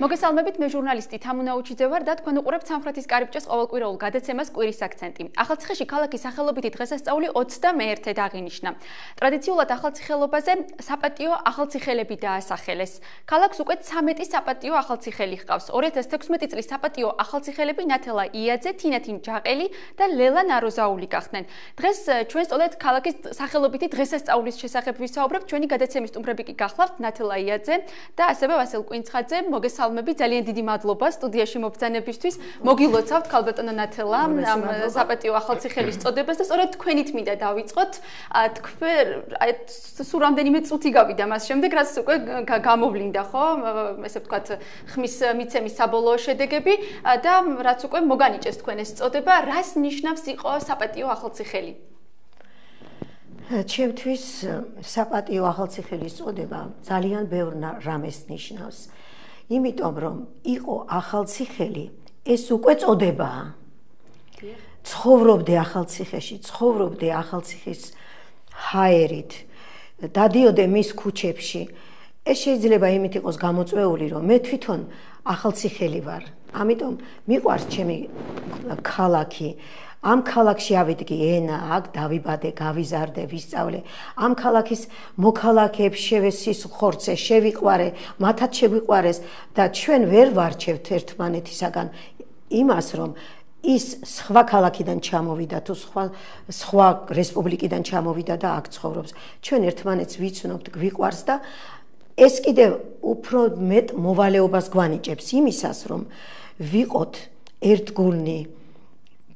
მოგესალმებით, მე ჟურნალისტი თამუნა უჩიძე ვარ და თქვენ უყურებთ სამხრეთის კარიბჭეს ყოველკვირეულ გადაცემას კვირის აქცენტი. ახალციხეში ქალაქის სახელობითი დღესასწაული 21-ად აღინიშნა. ტრადიციულად ახალციხელობაზე საპატიო ახალციხელები დაასახელეს. ქალაქს უკვე 13 საპატიო ახალციხელი ჰყავს. 2016 წლის საპატიო ახალციხელები ნათელა იაძე, თინათინ ჯაყელი და ლელა ნაროზაული გახდნენ. დღეს ჩვენ სწორედ ქალაქის სახელობითი დღესასწაულის შესახებ ვისაუბრებთ. ჩვენი გადაცემის სტუმრები კი გახლავთ ნათელა იაძე და ასევე ვასილ კვინცხაძე. მოგესალმებით, ძალიან დიდი მადლობა სტუდიაში მობრძანებისთვის. მოგილოცავთ ქალბატონო ნათელა ამ საპატიო ახალციხელის წოდებას და სწორედ თქვენით მინდა დავიწყოთ. თქვენ სულ რამდენიმე წუთი გავიდა მას შემდეგ, რაც უკვე გამოვლინდა, ხო? ესე ვთქვათ, ხმის მიცემის საბოლოო შედეგები და რაც უკვე მოგანიჭეს თქვენ ეს წოდება, რას ნიშნავს იყო საპატიო ახალციხელი? ჩემთვის საპატიო ახალციხელის წოდება ძალიან ბევრ რამეს ნიშნავს. იმიტომ რომ იყო ახალციხელი, ეს უკვე წოდებაა. ცხოვრობდე ახალციხეში, ცხოვრობდე ახალციხის ჰაერით, დადიოდე მის ქუჩებში. ეს შეიძლება იმით იყოს გამოწვეული, რომ მე თვითონ ახალციხელი ვარ. ამიტომ მიყვარს ჩემი ქალაქი. ამ ქალაქში ავიდგე ენა, აქ დავიბადე, გავიზარდე, ვისწავლე. ამ ქალაქის მოქალაქეებს შევესის ხორცე, შევიყვარე, მათაც შეგვიყვარეს და ჩვენ ვერ ვარჩევთ ერთმანეთისაგან იმას, რომ ის სხვა ქალაქიდან ჩამოვიდა თუ სხვა რესპუბლიკიდან ჩამოვიდა და აქ ცხოვრობს. ჩვენ ერთმანეთს ვიცნობთ, გვიყვარს და ეს კიდევ უფრო მეტ მოვალეობას გვანიჭებს იმისას, რომ ვიყოთ ერთგულნი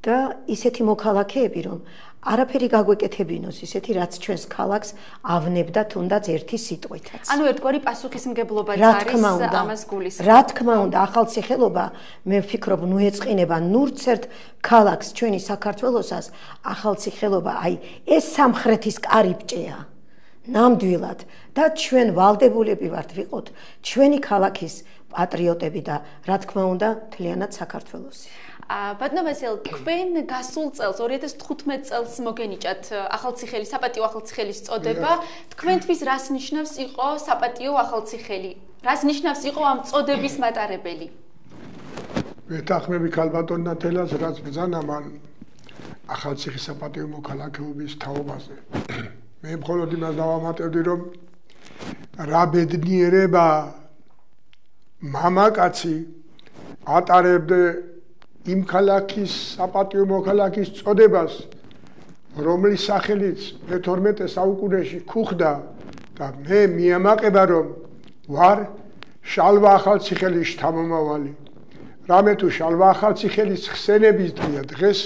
და ისეთი მოქალაქეები, რომ არაფერი გაგვეკეთებინოს, ისეთი რაც ჩვენს ქალაქს ავნებდა თუნდაც ერთი სიტყვითაც. ანუ ერთგვარი პასუხისმგებლობაც არის ამას გულისხმობს. რა თქმა უნდა, ახალციხელობა, მე ვფიქრობ, ნუ ეწყინება ნურც ერთ ქალაქს ჩვენი საქართველოსას, ახალციხელობა, აი ეს სამხრეთის კარიბჭეა. ნამდვილად და ჩვენ ვალდებულები ვართ ვიყოთ ჩვენი ქალაქის პატრიოტები და რა თქმა უნდა, მთლიანად საქართველოსი. ბატონო ვასილ, თქვენ გასულ წელს 2015 წელს მოგენიჭათ ახალციხელის, საპატიო ახალციხელის წოდება. თქვენთვის რას ნიშნავს იყო საპატიო ახალციხელი? რას ნიშნავს იყო ამ წოდების მატარებელი? ვეთანხმები ქალბატონ ნათელას, რაც ბრძანა მან ახალციხის საპატიო მოქალაქეობის თაობაზე. მე მხოლოდ იმას დავამატებდი, რომ რა ბედნიერება მამაკაცი ატარებდა იმ ქალაქის საპატიო მოქალაქის წოდებას, რომლის სახელიც მე-12 საუკუნეში ქუხდა და მე მიამაყება, რომ ვარ შალვა ახალციხელის შთამომავალი. რამე თუ შალვა ახალციხელის ხსენების დღეა დღეს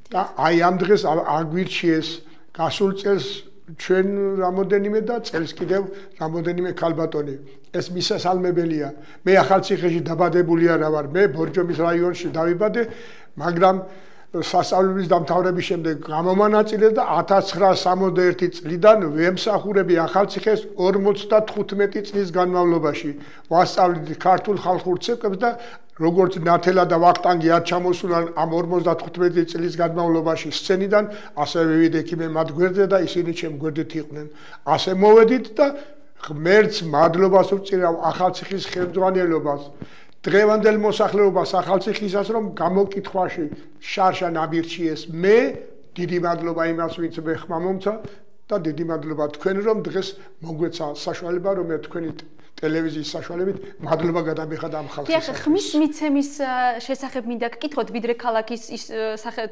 და აი ამ დღეს აგვირჩიეს გასულ წელს ჩვენ რამოდენიმე და წელს კიდევ რამოდენიმე ქალბატონი. ეს მისასალმებელია. მე ახალციხეში დაბადებული არა ვარ, მე ბორჯომის რაიონში დავიბადე, მაგრამ სასწავლებლის დამთავრების შემდეგ გამომანაწილეს და 1961 წლიდან ვემსახურები ახალციხეს 55 წლის განმავლობაში. ვასწავლეთ ქართულ ხალხურ ცეკვებს და როგორც ნათელა და ვახტანგი არ ჩამოსულან ამ 55 წლის განმავლობაში სცენიდან, ასე ვივიდე მე მათ გვერდზე და ისინი ჩემ გვერდით იყვნენ. ასე მოვედით და ღმერთს მადლობას ვუწირავ ახალციხის ხელმძღვანელობას, დღევანდელ მოსახლეობას ახალციხისას, რომ გამოკითხვაში შარშან ამირჩიეს. მე დიდი მადლობა იმას, ვინც მე ხმა მომცა და დიდი მადლობა თქვენ, რომ დღეს მოგვეცა საშუალება, რომ მე თქვენი ტელევიზიის საშუალებით მადლობა გადამიხადე ამ ხალხის. დიახ, ხმის მიცემის შესახებ მინდა გკითხოთ, ვიდრე ქალაქის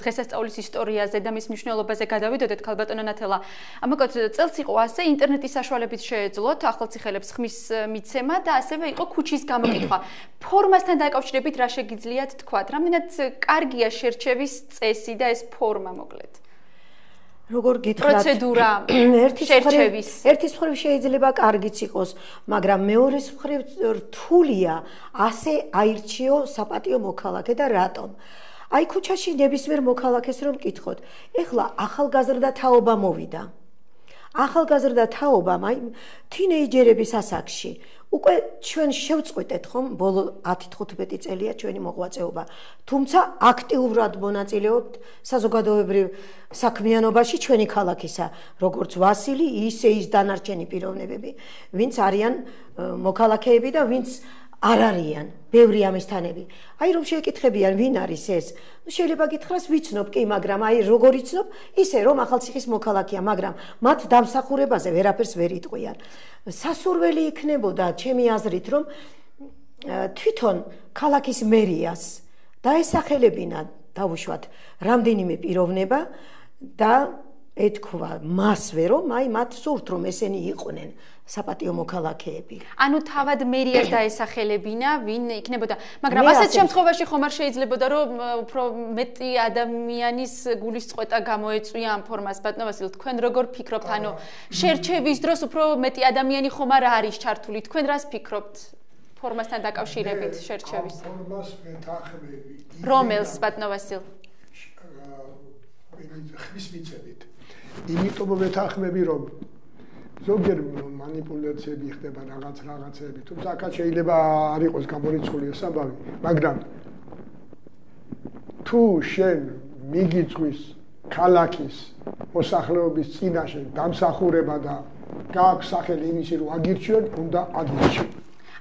დღესასწაულის ისტორიაზე და მის მნიშვნელობაზე გადავიდოდეთ, ქალბატონო ნათელა. ამაგოთ წელს იყო ასე, ინტერნეტის საშუალებით შეეძლოთ ახალციხელებს ხმის მიცემა და ასევე იყო ქუჩის გამოკითხვა. ფორმასთან დაკავშირებით რა შეგიძლიათ თქვათ? რამდენად კარგია შერჩევის წესი და ეს ფორმა მოკლედ? როგორ გითხრათ, პროცედურა შერჩევის ერთის მხრივ შეიძლება კარგიც იყოს, მაგრამ მეორეს მხრივ რთულია ასე აირჩიო საპატიო მოქალაქე და რატომ? აი ქუჩაში ნებისმიერ მოქალაქეს რომ მკითხოთ, ეხლა ახალგაზრდა თაობა მოვიდა. ახალგაზრდა თაობამ აი თინეიჯერების ასაკში უკვე ჩვენ შევწყვეტეთ ხომ ბოლო 10-15 წელია ჩვენი მოღვაწეობა. თუმცა აქტიურად მონაწილეობთ საზოგადოებრივ საქმიანობაში ჩვენი ქალაქისა, როგორც ვასილი, ისე ის დანარჩენი პიროვნებები, ვინც არიან მოქალაქეები და ვინც არ არიან ბევრი ამისთანები. აი რომ შეეკითხებიან ვინ არის ეს? შეიძლება გითხრას ვიცნობ კი, მაგრამ აი როგორ იცნობ? ისე რომ ახალციხის მოქალაქეა, მაგრამ მათ დამსახურებაზე ვერაფერს ვერ იტყვიან. სასურველი იქნებოდა ჩემი აზრით, რომ თვითონ ქალაქის მერიას დაესახელებინა დაუშვათ რამდენიმე პიროვნება და ეთქვა მასვე რომ აი მათ სურთ რომ ესენი იყვნენ საპატიო მოქალაქეები. ანუ თავად მერიას დაესახელებინა, ვინ იქნებოდა, მაგრამ ასეთ შემთხვევაში ხომ არ შეიძლებოდა რომ უფრო მეტი ადამიანის გულის წყვეტა გამოეწვია ამ ფორმას. ბატონო ვასილ, თქვენ როგორ ფიქრობთ? ანუ შერჩევის დროს უფრო მეტი ადამიანი ხომ არ არის ჩართული. თქვენ რას ფიქრობთ ფორმასთან დაკავშირებით შერჩევის? ფორმას ვეთანხმები. რომელს ბატონო ვასილ? ხმის მიცემით. იმიტომ ვეთანხმები რომ ზოგჯერ манипуляციები ხდება რაღაცები, თუმცა აქაც შეიძლება არ იყოს გამორიცხული ეს ამბავი, მაგრამ თუ შენ მიგიწვის ქალაქის მოსახლეობის წინაშე დამსახურება და გააქვს სახელი იმისი რომ აგირჩიონ, უნდა აგირჩიონ.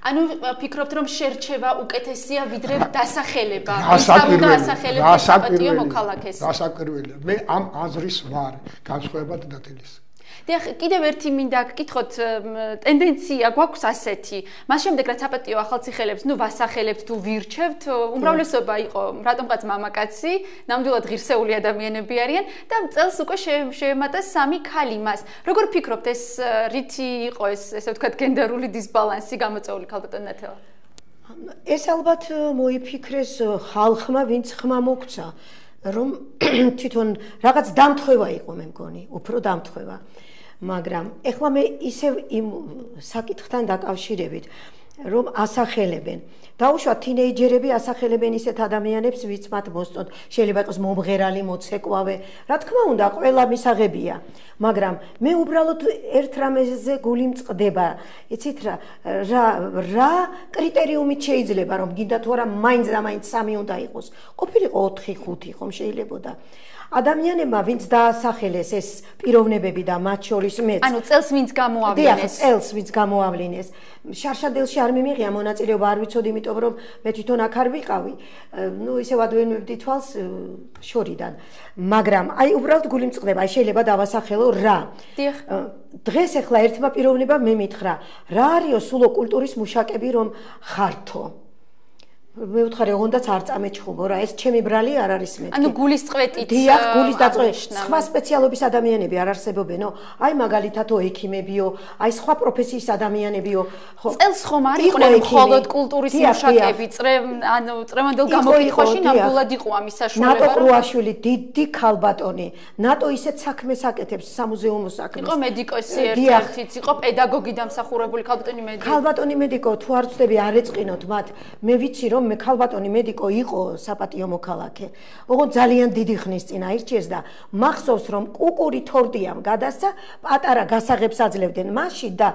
ანუ ფიქრობთ რომ შერჩევა უკეთესია ვიდრე დასახელება? დასაკვირველია. მე ამ აზრის ვარ, განსხვავებად დათილის. დიახ, კიდევ ერთი მინდა გკითხოთ, ტენდენცია გვაქვს ასეთი. მას შემდეგ რაც საპატიო ახალციხელებს, ვასახელებთ თუ ვირჩევთ, უმრავლესობა იყო რატომღაც მამაკაცი, ნამდვილად ღირსეული ადამიანები არიან და წელს უკვე შეემატა 3 ქალი მას. როგორ ფიქრობთ ეს რითი იყო ესე ვთქვათ გენდერული დისბალანსი გამოწვეული ქალბატონ ნათელა? ეს ალბათ მოიფიქრეს ხალხმა, ვინც ხმა მოგცა, რომ თვითონ რაღაც დამთხევა იყო მე მგონი, უფრო დამთხევა. მაგრამ ეხლა მე ისევ იმ საკითხთან დაკავშირებით, რომ ასახელებენ. დაუშვათ თინეიჯერები ასახელებენ ისეთ ადამიანებს, ვინც მათ მოსწონთ. შეიძლება იყოს მომღერალი, მოცეკვავე, რა თქმა უნდა, ყველა მისაღებია. მაგრამ მე უბრალოდ ერთ რამეზე გული მწყდება. იცით რა კრიტერიუმით შეიძლება რომ გინდა თუ არა მაინც და მაინც 3 უნდა იყოს. ყოფილიყო 4-5 ხომ შეიძლებოდა. ადამიანებმა ვინც დაასახელეს ეს პიროვნებები და მათ შორის მეც. ანუ წელს ვინც გამოავლინეს? წელს ვინც გამოავლინეს. შარშანდელში არ მიმიღია მონაწილეობა, არ ვიცოდი, იმიტომ რომ მე თვითონ აქ არ ვიყავი. ისევ ადვენებდი თვალს შორიდან. მაგრამ აი უბრალოდ გული მწყდება, აი შეიძლება დავასახელო რა. დიახ. დღეს ახლა ერთმა პიროვნებამ მე მითხრა, რა არისო სულო კულტურის მუშაკები რომ ხართო. მე ვთხარი, ოღონდაც არ წამეჩხუბო რა, ეს ჩემი ბრალი არ არის მეთქი. ანუ გულის წვეტით. დიახ, გულის დაწვეტით. სხვა სპეციალობის ადამიანები არ არსებობენო. აი მაგალითადო ექიმებიო, აი სხვა პროფესიის ადამიანებიო. წელს ხომ არ იყვნენ მხოლოდ კულტურის მუშაკები, ანუ წრემანდელ გამოკითხვაში ნამდვილად იყო ამის საშუალება. ნატო ყრუაშვილი, დიდი ქალბატონი, ნატო ისეთ საქმეს აკეთებს, სამუზეუმო საქმეს. იყო მედიკოსი ერთ-ერთიც, იყო პედაგოგი დამსახურებული ქალბატონი მედიკო, თუ არ ვწდები არ ეწყინოთ მათ. მე ვიცი რომ მე ქალბატონი მედიკო იყო საპატიო მოქალაქე. ოღონდ ძალიან დიდი ხნის წინ აირჩიეს და მახსოვს რომ კუკური თორდიამ გადასცა, პატარა გასაღებს აძლევდნენ მასში და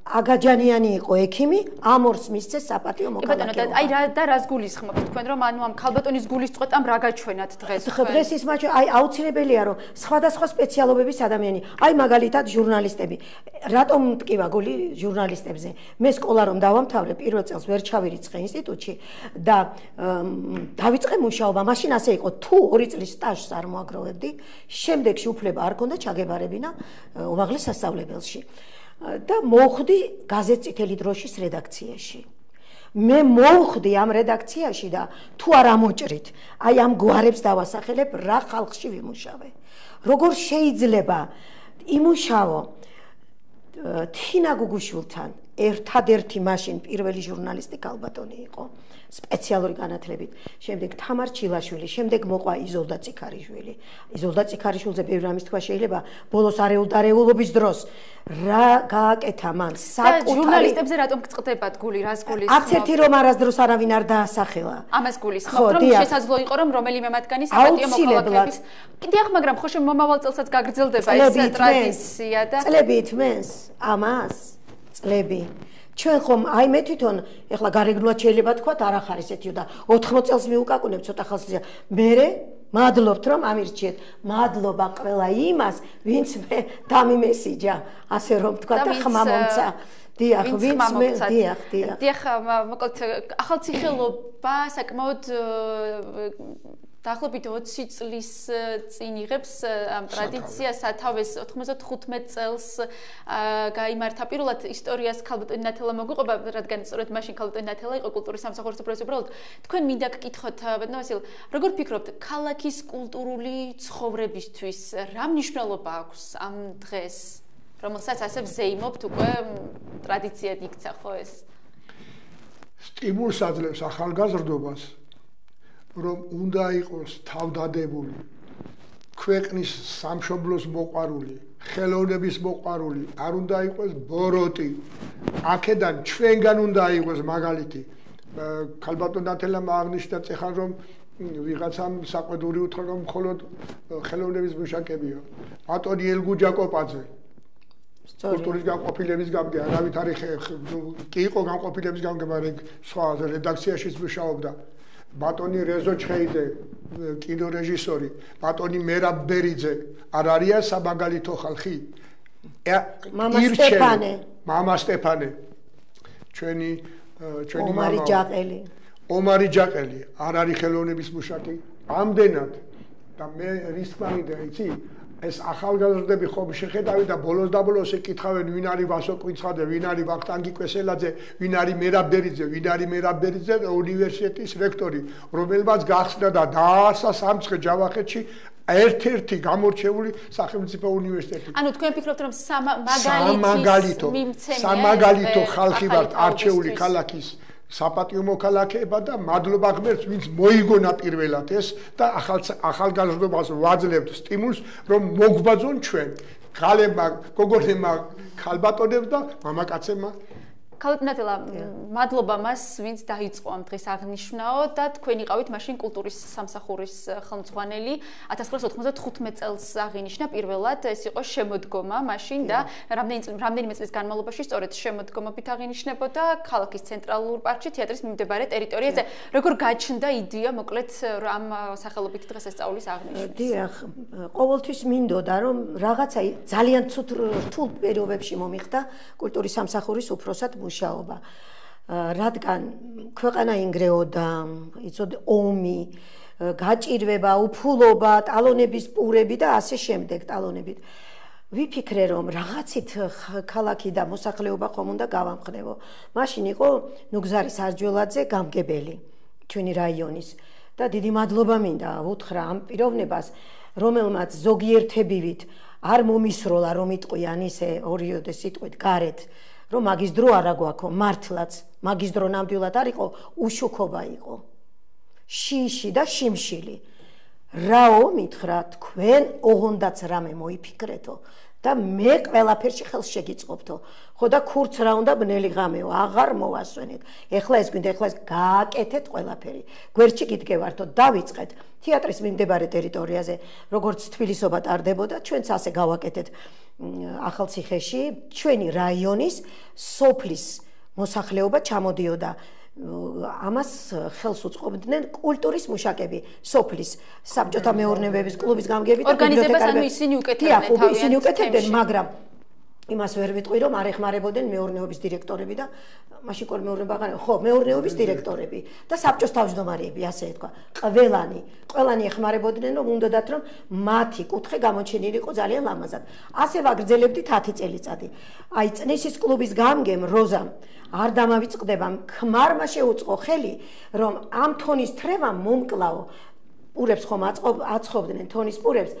აგაჯანიანი იყო ექიმი, ამორს მისცეს საპატიო მოქალაქე. აი და რას გულისხმობთ თქვენ რომ ანუ ამ ქალბატონის გულის წყვეტამ რა გაჩვენათ დღეს? დღეს ის მაჩვენე, აი აუცილებელია რომ სხვადასხვა სპეციალობების ადამიანი, აი მაგალითად ჟურნალისტები. რატომ მტკივა გული ჟურნალისტებზე? მე სკოლა რომ დავამთავრე, პირველ წელს ვერ ჩავირიცხე ინსტიტუტში და დავიწყე მუშაობა. მაშინ ასე იყო, თუ 2 წლის სტაჟს არ მოაგროვებდი, შემდეგში უფლება არ ქონდა ჩაგებარებინა უმაღლეს სასწავლებელში. და მოვხვდი გაზეთ წითელი დროშის რედაქციაში. მე მოვხვდი ამ რედაქციაში და თუ არ ამოჭრით, აი ამ გვარებს დავასახელებ, რა ხალხში ვიმუშავე. როგორ შეიძლება იმუშავო თინა გუგუშვილთან, ერთადერთი მაშინ პირველი ჟურნალისტი ქალბატონი იყო. სპეციალური განათლებით. შემდეგ თამარ ჩილაშვილი, შემდეგ მოყვა იზოლდა ციქარიშვილი. იზოლდა ციქარიშვილზე ბევრი რამის თქვა შეიძლება ბოლოს არეულობის დროს რა გააკეთა მან საკუთარი ჟურნალისტებზე რატომ გწყდებათ გული, რას გულის? არც ერთი რომ არასდროს არავინ არ დაასახელა. ამას გულისხმობთ, რომ შესაძლო იყო რომ რომელიმე მათგანი საპატიო მოქალაქეების. დიახ, მაგრამ ხო მომავალ წელსაც გაგრძელდება ეს ტრადიცია და წლებით მენს ამას წლები ჩვენ ხომ აი მე თვითონ ეხლა გარეგნულად შეიძლება თქვა არ ახარ ესეთიო და 80 წელს მიუკაკუნებ ცოტა ხალხს მერე მადლობთ რომ ამირჩიეთ მადლობა ყველა იმას ვინც მე დამიმესიჯა ასე რომ თქვა და ხმა მომცა დიახ, ვინც მე დიახ, მოკლედ ახალციხელობა საკმაოდ დაახლოებით 20 წლის წინ იღებს ამ ტრადიციას სათავეს 95 წელს გაიმართა პირველად ისტორიას ქალბატონი ნათელა მოგვიყვება, რადგან სწორედ მაშინ ქალბატონი ნათელა იყო კულტურის სამსახურის უფროსი. უბრალოდ თქვენ მინდა გკითხოთ, ბატონო ვასილ, როგორ ფიქრობთ, ქალაქის კულტურული ცხოვრებისთვის რა მნიშვნელობა აქვს ამ დღეს, რომელსაც ასე ვზეიმობთ უკვე ტრადიციად იქცა ხო ეს? სტიმულს აძლევს ახალგაზრდობას, რომ უნდა იყოს თავდადებული, ქვეყნის სამშობლოს მოყვარული, ხელოვნების მოყვარული, არ უნდა იყოს ბოროტი. აქედან ჩვენგან უნდა იყოს მაგალითი. ქალბატონ ნათელამ აღნიშნა წეხან რომ ვიღაცამ საყვედური უთხრა რომ მხოლოდ ხელოვნების მუშაკებია. ბატონი ელგუჯა კოპაძე კულტურის განყოფილების გამგე, არავით არის კი იყო განყოფილების გამგე, მაგრამ სხვა რედაქციაშიც მუშაობდა. ბატონი რეზო ჩხეიძე, კინორეჟისორი, ბატონი მერაბ ბერიძე, არ არიან სამაგალითო ხალხი? მამა სტეფანე, ჩვენი ომარი ჯაყელი, არ არის ხელოვნების მუშაკი? ამდენად და მე რის თქმა მინდა, იცი? ეს ახალგაზრდები ხომ შეხედავენ და ბოლოს და ბოლოს ეკითხავენ ვინ არის ვასო კვინცხადე, ვინ არის ვახტანგი კვესელაძე, ვინ არის მერაბ ბერიძე, ვინ არის მერაბ ბერიძე უნივერსიტეტის რექტორი, რომელმაც გახსნა და დააარსა სამცხე ჯავახეთში ერთ-ერთი გამორჩეული სახელმწიფო უნივერსიტეტი. ანუ თქვენ ფიქრობთ რომ სამაგალითო ხალხი ვართ არჩეული ქალაქის საპატიო მოქალაქეება და მადლობა ღმერთს, ვინც მოიგონა პირველად ეს და ახალგაზრდობას ვაძლევთ სტიმულს, რომ მოგვბაძონ ჩვენ, ქალებმა, გოგონებმა, ქალბატონებს და მამაკაცებმა. ქალბატონ ნათელა, მადლობა მას, ვინც დაიწყო ამ დღის აღნიშვნაო და თქვენ იყავით მაშინ კულტურის სამსახურის ხელმძღვანელი 1995 წელს აღინიშნა პირველად, ეს იყო შემოდგომა მაშინ და რამდენიმე წლის განმავლობაში სწორედ შემოდგომობით აღინიშნებოდა ქალაქის ცენტრალურ პარკში თეატრის მიმდებარე ტერიტორიაზე. როგორ გაჩნდა იდეა მოკლედ ამ სახელობითი დღესასწაულის აღნიშვნის? დიახ, ყოველთვის მინდოდა რომ რაღაცა ძალიან რთულ პირობებში მომიხდა კულტურის სამსახურის უფროსად მუშაობა. რადგან ქვეყანა ინგრეოდა, იცოდე ომი, გაჭირვება, უფულობა, ტალონების პურები და ასე შემდეგ ტალონებით. ვიფიქრე რომ რაღაცით ქალაქი და მოსახლეობა ხომ უნდა გავამხნევო. მაშინ იყო ნუგზარი სარჯველაძე გამგებელი ჩვენი რაიონის და დიდი მადლობა მინდა უთხრა ამ პიროვნებას, რომელმაც ზოგიერთებივით არ მომისროლა რომ იტყვიან ისე ორიოდე სიტყვით გარეთ, რომ მაგის დრო არა გვაქვს, მართლაც მაგის დრო ნამდვილად არ იყო, უშუქობა იყო. შიში და შიმშილი. რაო მითხრა, თქვენ ოღონდაც რამე მოიფიქრეთო და მე ყველაფერში ხელს შეგიწყობთო. ხო და ქურც რა უნდა ბნელი ღამეო, აღარ მოვასვენეთ. ეხლა ეს გვინდა, ეხლა ეს გააკეთეთ ყველაფერი. გვერდში გიდგევართო, დავიწყეთ თეატრის მიმდებარე ტერიტორიაზე, როგორც თბილისობა ტარდებოდა, ჩვენც ასე გავაკეთეთ. ახალციხეში ჩვენი რაიონის სოფლის მოსახლეობა ჩამოდიოდა. ამას ხელს უწყობდნენ კულტურის მუშაკები, სოფლის საბჭოთა მეურნეობის კლუბის გამგები და ორგანიზებას ისინი უკეთებდნენ, მაგრამ იმას ვერ ვიტყვი რომ არ ეხმარებოდნენ მეურნეობის დირექტორები და მაშინ კოლ მეურნეობა აღარ ხო, მეურნეობის დირექტორები და საბჭოს თავმჯდომარეები, ასე ეთქვა. ყველანი ეხმარებოდნენ რომ უნდათ რომ მათი კუთხე გამოჩენილი იყო ძალიან ლამაზად. ასე ვაგრძელებდით 10 წელიწადი. აი წნისის კლუბის გამგემ როზამ არ დამავიწყდება, ქმარმა შეუწყო ხელი რომ ამ თონის თრევა მომკლაო პურებს ხომ აწყობდნენ თონის პურებს,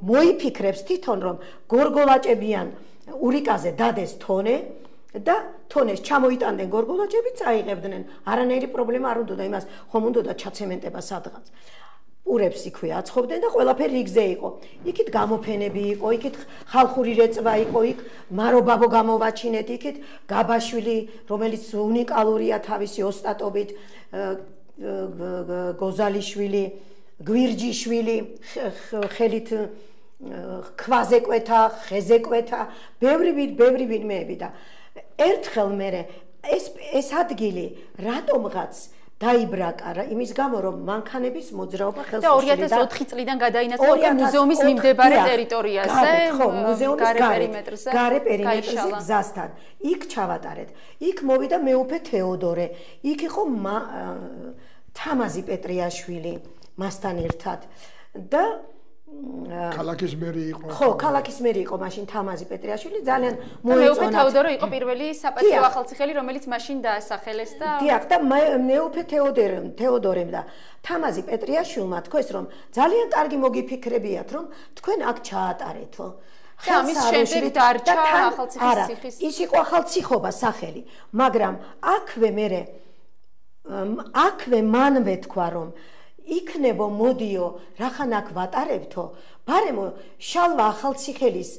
მოიფიქრებს თვითონ რომ გორგოლაჭებიან ურიკაზე დადეს თონე და თონეს ჩამოიტანდნენ გორგოლაჭები, წაიღებდნენ. არანაირი პრობლემა არ უნდოდა იმას, ხომ უნდოდა ჩაცემენტება სადღაც. პურებს იქვე აწყობდნენ და ყველაფერი რიგზე იყო. იქით გამოფენები იყო, იქით ხალხური რეწვა იყო, იქ მარობაბო გამოვაჩინეთ, იქით გაბაშვილი, რომელიც უნიკალურია თავისი ოსტატობით, გოზალიშვილი, გვირჯიშვილი, ხელით ქვაზე კვეთა, ხეზე კვეთა, ბევრი ვინმეები და ერთხელ მე ეს ადგილი რატომღაც დაიბრაკა იმის გამო რომ მანქანების მოძრაობა ხელს უშლიდა და 2004 წლიდან გადაინაცვლა მუზეუმის მიმდებარე ტერიტორიაზე გარე პერიმეტრზე გზასთან იქ ჩავატარეთ იქ მოვიდა მეუფე თეოდორე იქ იყო თამაზი პეტრიაშვილი მასთან ერთად და ქალაქის მერი იყო ხო ქალაქის მერი იყო მაშინ თამაზი პეტრიაშვილი ძალიან მოეწონა მეუფე თეოდორე იყო პირველი საპატიო ახალციხელი რომელიც მაშინ დაასახელეს და დიახ და მეუფე თეოდორემ და თამაზი პეტრიაშვილმა თქვეს რომ ძალიან კარგი მოგიფიქრებიათ რომ თქვენ აქ ჩაატარეთო და ამის შემდეგ დარჩა ახალციხის ციხის ის იყო ახალციხობა სახელი მაგრამ აქვე მანვე თქვა რომ იქნებო მოდიო რახან აქ ვატარებთო ბარემო შალვა ახალციხელის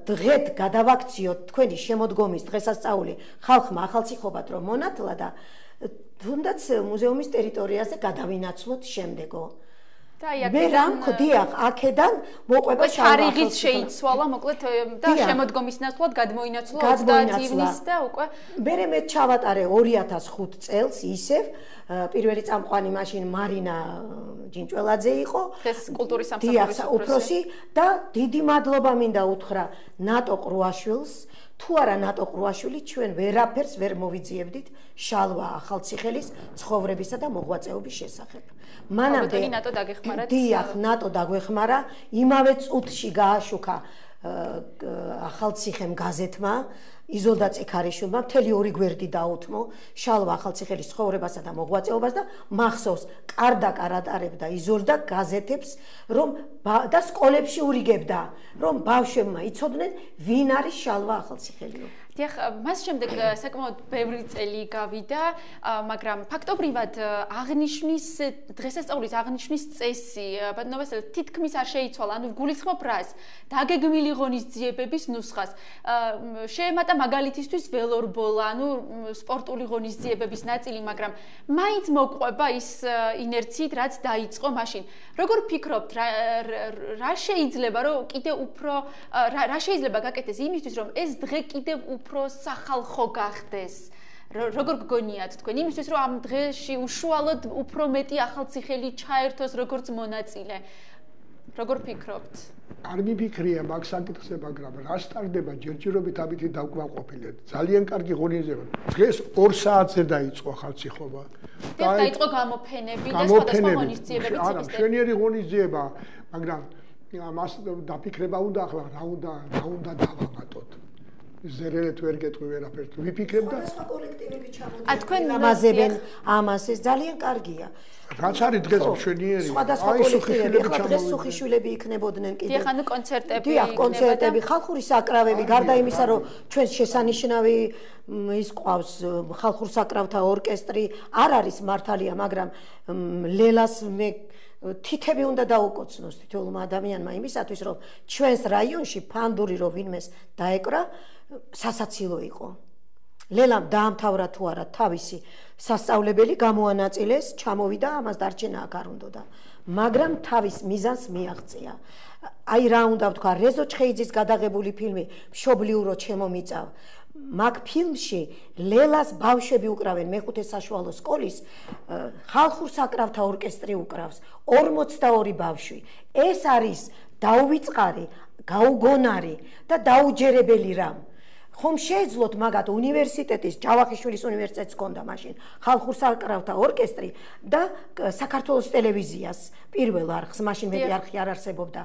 დღეთ გადავაქციოთ თქვენი შემოდგომის დღესასწაული ხალხმა ახალციხობად რომ მონათლა და თუნდაც მუზეუმის ტერიტორიაზე გადავინაცვლოთ შემდეგო მე რამ ხდიახ აქედან მოყვება შარიღიც შეიცვალა მოკლედ და შემოდგომის ნაცვლად გადმოინაცვლა 30 ივნის და უკვე მე ჩავატარე 2005 წელს ისევ პირველი წამყვანი მაშინ მარინა ჯინჭველაძე იყო ეს კულტურის სამსახურის უფროსი და დიდი მადლობა მინდა უთხრა ნატო ყრუაშვილს თუ არა ნატო ყრუაშვილი ჩვენ ვერაფერს ვერ მოვიძიებდით შალვა ახალციხელის ცხოვრებისა და მოღვაწეობის შესახებ მანამდე ნატო დაგეხმარა დიახ ნატო დაგვეხმარა იმავე წუთში გააშუქა ახალციხემ გაზეთმა იზოლდა წიქარიშვილმა მთელი 2 გვერდი დაუთმო შალვა ახალციხელის ცხოვრებასა და მოღვაწეობას და მახსოვს კარდაკარ ატარებდა იზოლდა გაზეთებს რომ და სკოლებში ურიგებდა რომ ბავშვებმა იცოდნენ ვინ არის შალვა ახალციხელიო დიახ მას შემდეგ საკმაოდ ბევრი წელი გავიდა მაგრამ ფაქტობრივად აღნიშვნის დღესასწაულის აღნიშვნის წესი ბატონობასელ თითქმის არ შეიცვალა ანუ გულისხმობ რას დაგეგმილი ღონისძიებების ნუსხას შეემატა მაგალითისთვის ველორბოლა ანუ სპორტული ღონისძიებების ნაწილი მაგრამ მაინც მოყვება ის ინერციით რაც დაიწყო მაშინ როგორ ფიქრობთ რა შეიძლება რომ კიდე უფრო რა შეიძლება გაკეთდეს იმისთვის რომ ეს დღე კიდევ უფრო სახალხო გახდეს როგორ გგონიათ თქვენ იმისთვის რომ ამ დღეში უშუალოდ უფრო მეტი ახალციხელი ჩაერთოს როგორც მონაწილე როგორ ფიქრობთ არ მიფიქრია მაგ საკითხზე მაგრამ რა სტარდება ჯერჯერობით ამით დავკმაყოფილეთ ძალიან კარგი ღონისძიება დღეს 2 საათზე დაიწყო ახალციხობა და დაიწყო გამოფენები და სხვადასხვა ღონისძიებები არა მშვენიერი ღონისძიება მაგრამ მას დაფიქრება უნდა ახლა რა უნდა დავამატოთ ზერელეთ ვერ გეტყვი ვერაფერს ვიფიქრებ და სხვა კოლექტივები ჩამოდიან თქვენ ამაზებენ ამას ეს ძალიან კარგია რაც არის დღეს მშვენიერი სხვადასხვა კოლექტივები ახლა დღეს სუხიშვილები იქნებოდნენ კიდე დიახ ანუ კონცერტები დიახ კონცერტები ხალხური საკრავები გარდა იმისა რომ ჩვენ შესანიშნავი ის ყავს ხალხურ საკრავთა ორკესტრი არ არის მართალია მაგრამ ლელას მე თითები უნდა დაუკოცნოს თითოეულმა ადამიანმა იმისათვის რომ ჩვენს რაიონში ფანდური რო ვინმეს დაეკრა სასაცილო იყო ლელამ დაამთავრა თუ არა თავისი სასწავლებელი გამოანაწილეს ჩამოვიდა ამას დარჩენა აქ არ უნდოდა მაგრამ თავის მიზანს მიაღწია აი რა უნდა ვთქვა რეზო ჩხეიძის გადაღებული ფილმი მშობლიურო ჩემო მიწავ მაგ ფილმში ლელას ბავშვები უკრავენ მეხუთე საშუალო სკოლის ხალხურ საკრავთა ორკესტრი უკრავს 42 ბავშვი ეს არის დაუვიწყარი გაუგონარი და დაუჯერებელი რამ ხომ შეეძლოთ მაგათ უნივერსიტეტის ჯავახიშვილის უნივერსიტეტს ჰქონდა მაშინ ხალხურ საკრავთა ორკესტრი და საქართველოს ტელევიზიას პირველ არხს მაშინ მეტი არხი არ არსებობდა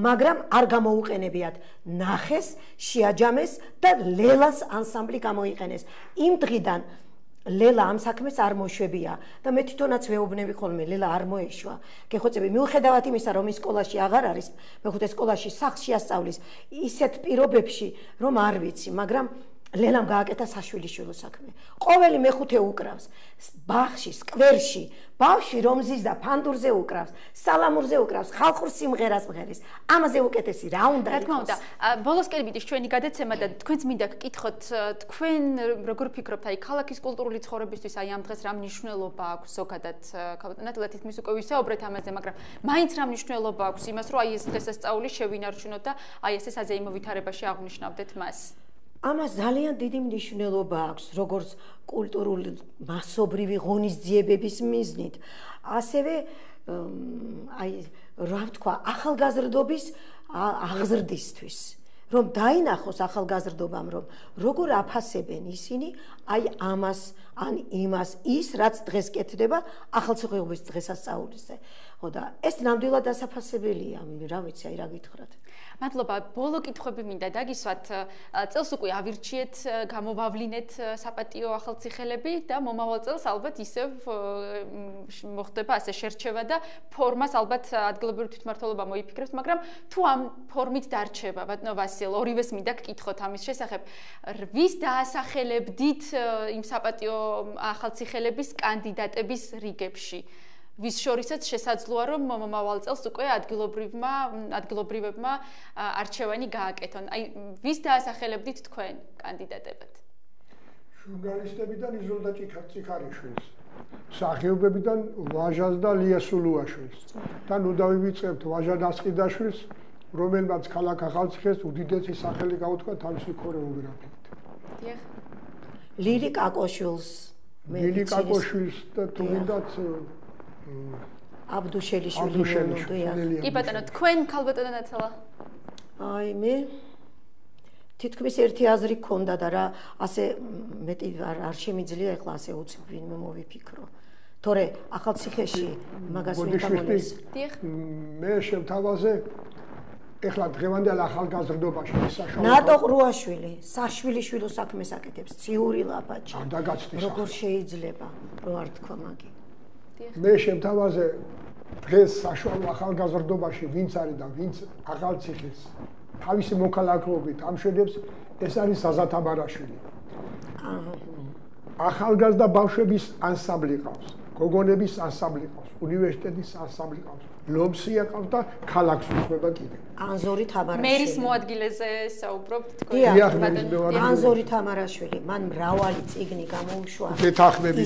მაგრამ არ გამოუყენებიათ ნახეს შეაჯამეს და ლელას ანსამბლი გამოიყენეს იმ დღიდან ლელა ამ საქმეს არ მოშვებია და მე თვითონაც ვეუბნები ხოლმე ლელა არ მოეშვა გეხოცები მიუხედავად იმისა რომ ის სკოლაში აღარ არის მეხუთე სკოლაში სახლში ასწავლის ისეთ პირობებში რომ არ ვიცი მაგრამ ლელამ გააკეთა საშვილიშვილო საქმე ყოველი მეხუთე უკრავს ბაღში სკვერში ბავშვი რომ ზის და ფანდურზე უკრავს სალამურზე უკრავს ხალხურ სიმღერას მღერის ამაზე უკეთესი რა უნდა რა თქმა უნდა ბოლოსკენ მიდის ჩვენი გადაცემა და თქვენც მინდა გკითხოთ თქვენ როგორ ფიქრობთ აი ქალაქის კულტურული ცხოვრებისთვის აი ამ დღეს რა მნიშვნელობა აქვს ზოგადად ქალბატონად თითქმის უკვე ვისაუბრეთ ამაზე მაგრამ მაინც რა მნიშვნელობა აქვს იმას რომ აი ეს დღესასწაული შევინარჩუნოთ და აი ესე საზეიმო ვითარებაში აღნიშნავდეთ მას ამას ძალიან დიდი მნიშვნელობა აქვს, როგორც კულტურული მასობრივი ღონისძიებების მიზნით, ასევე აი რა ვთქვა, ახალგაზრდობის აღზრდისთვის. რომ დაინახოს ახალგაზრდობამ, რომ როგორ აფასებენ ისინი აი ამას ან იმას ის რაც დღეს კეთდება ახალციხეობის დღესასწაულზე. ხო და ეს ნამდვილად დასაფასებელია, რა ვიცი, აი რა გითხრათ. მადლობა, ბოლო კითხვები მინდა დაგისვათ. წელს უკვე ავირჩიეთ, გამოვავლინეთ საპატიო ახალციხელები და მომავალ წელს ალბათ ისევ მოხდება ასე შერჩევა და ფორმას ალბათ ადგილობრივი თვითმმართველობა მოიფიქრებს, მაგრამ თუ ამ ფორმით დარჩება, ბატონო ვასილ, ორივეს მინდა გკითხოთ ამის შესახებ. ვის დაასახელებდით იმ საპატიო ახალციხელების კანდიდატების რიგებში? ვის შორისაც შესაძლოა რომ მომავალ წელს უკვე ადგილობრივებმა არჩევანი გააკეთონ. აი ვის დაასახელებდით თქვენ კანდიდატებად? ჟურნალისტებიდან იზოლდა წიქარიშვილს, მსახიობებიდან ვაჟას და ლია სულუაშვილს. და ნუ დავივიწყებთ ვაჟა ნასყიდაშვილს, რომელმაც ქალაქ ახალციხეს უდიდესი სახელი გაუთქვა თავისი ქორეოგრაფიით. დიახ. ლირი კაკოშვილს, ლირი კაკოშვილს და თუნდაც აბდუშელიშვილი. კი ბატონო, თქვენ ქალბატონო ნათალა? აი მე თითქმის ერთი აზრი გქონდა და რა ასე მეტი არ შემიძლია ეხლა ასე უცებ ვინმე მოვიფიქრო. თორე ახალციხეში მაგას ვინ გამონეს? დიახ. მე შემთავაზე ეხლა დღევანდელ ახალგაზრდობაში საშუალო ნატო ყრუაშვილი, საშვილიშვილო საქმეს აკეთებს, ციური ლაპაჩი. როგორ შეიძლება რო არ თქვა მაგი? მე შემთავაზე დღეს საშუალო ახალგაზრდობაში ვინც არის და ვინც ახალციხეს თავისი მოქალაქეობით ამშვენებს, ეს არის საზათ აბარაშვილი. ახალგაზრდა ბავშვების ანსამბლი ყავს, გოგონების ანსამბლი ყავს, უნივერსიტეტის ანსამბლი ყავს, ლომსია ყავს და ქალაქს უძღვება კიდე. ანზორი თამარაშვილი. მერის მოადგილეზე საუბრობთ თქვენ? დიახ, ანზორი თამარაშვილი, მან მრავალი წიგნი გამოუშვა.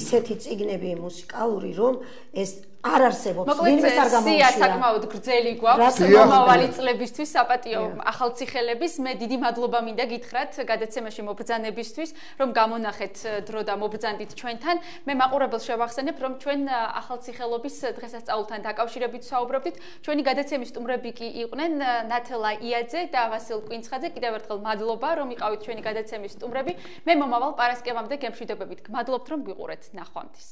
ისეთი წიგნები მუსიკალური, რომ ეს არ არსებობს, ვინმე არ გამოუშვა. მოკლედ, საკმაოდ გრძელი გვაქვს მომავალი წლებისთვის საპატიო ახალციხელების. მე დიდი მადლობა მინდა გითხრათ გადაცემაში მობრძანებისთვის, რომ გამონახეთ დრო და მობრძანდით ჩვენთან. მე მაყურებელს შევახსენებ, რომ ჩვენ ახალციხელობის დღესასწაულთან დაკავშირებით საუბრობდით. ჩვენი გადაცემის სტუმრები კი იყვნენ ნათელა იაძე და ვასილ კვინცხაძე. კიდევ ერთხელ მადლობა, რომ იყავით ჩვენი გადაცემის სტუმრები. მე მომავალ პარასკევამდე გემშვიდობებით გმადლობთ, რომ გვიყურეთ. ნახვამდის.